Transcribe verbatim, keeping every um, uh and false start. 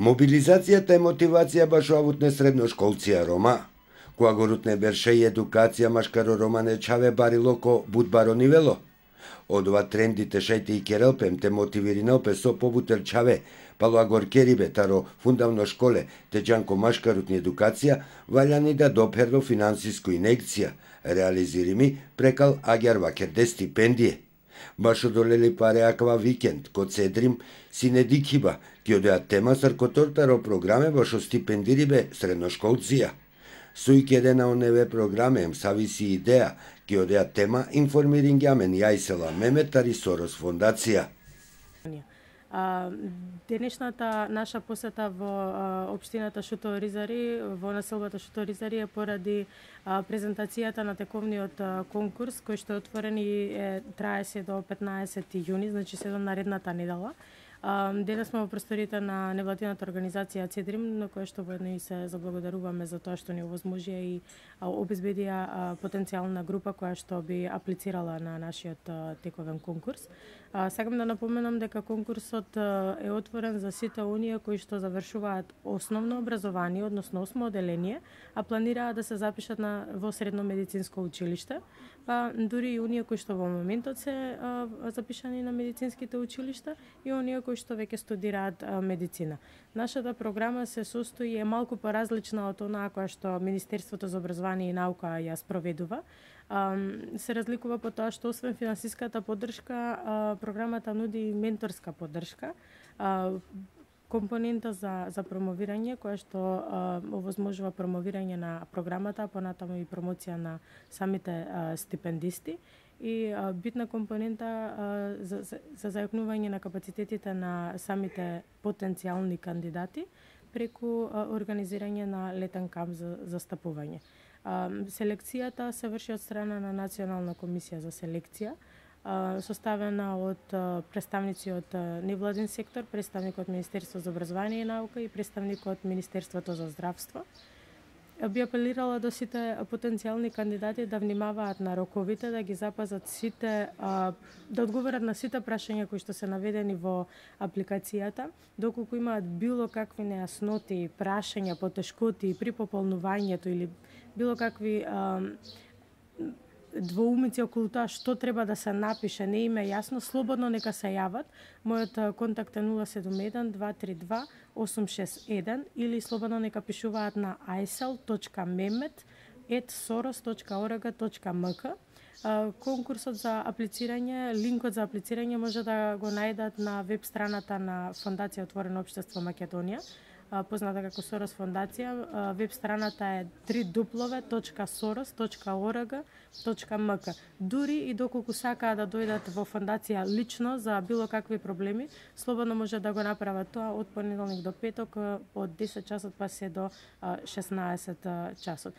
Мобилизацијата и мотивација баш овутне средношколција Рома, која го рутне берше и едукација машкаро Романе чаве барило ко будбаро нивело. Одва трендите шајте и керелпем те мотивиринелпе со побутер чаве, пало агоркерибе таро фундавно школе, те джанко машкарутни едукација, валјани да доперро финансиско инекција, реализирими прекал агјар вакерде стипендие. Баш одолели паре аква викенд, код седрим, сине дикиба, ки одеа тема саркотортаро програме башо стипендирибе средношколција. Сујке едена оневе програме им сависи идеја, ки одеа тема информирингјамен јајсела Меметари Сорос фондација. Денешната наша посета во општината Шуто Оризари, во населбата Шуто Оризари е поради презентацијата на тековниот конкурс кој што е отворен и е, трае се до петнаесети јуни, значи се до наредната недела. Денес сме во просториите на невладината организација Цедрим, на која што воедно и се заблагодаруваме за тоа што ни овозможија и обезбедија потенцијална група која што би аплицирала на нашиот тековен конкурс. Сакам да напоменам дека конкурсот е отворен за сите оние кои што завршуваат основно образование, односно осмо оделение, а планираат да се запишат на во средно медицинско училиште, па дури и оние кои што во моментот се а, запишани на медицинските училишта и оние кои што веќе студираат а, медицина. Нашата програма се состои е малку поразлична од онаа која што Министерството за образование и наука ја спроведува. А, се разликува по тоа што освен финансиската поддршка, а, програмата нуди и менторска поддршка, а, компонента за, за промовирање, која што а, овозможува промовирање на програмата, а понатаму и промоција на самите а, стипендисти и а, битна компонента а, за, за, за зајакнување на капацитетите на самите потенцијални кандидати преку а, организирање на летен камп за застапување. А, селекцијата се врши од страна на Национална комисија за селекција, составена од представници од невладин сектор, представник од Министерство за образование и наука и представник од Министерството за здравство. Би апелирала до сите потенцијални кандидати да внимаваат на роковите, да ги запазат сите, да одговорат на сите прашања кои што се наведени во апликацијата, доколку имаат било какви нејасноти, прашања, потешкоти при пополнувањето или било какви двоумици околу тоа што треба да се напише, не им е јасно, слободно нека се јават. Мојот контакт е нула седум еден два три два осум шест еден или слободно нека пишуваат на ајсел точка мемет ет сорос точка орг точка ем ка. Конкурсот за аплицирање, линкот за аплицирање може да го најдат на веб страната на Фондација Отворено општество Македонија, позната како Сорос фондација. Веб страната е три дуплове точка сорос точка орг точка ем ка. Дури и доколку сакаат да дојдат во фондација лично за било какви проблеми, слободно може да го направат тоа од понеделник до петок од десет часот па се до шеснаесет часот.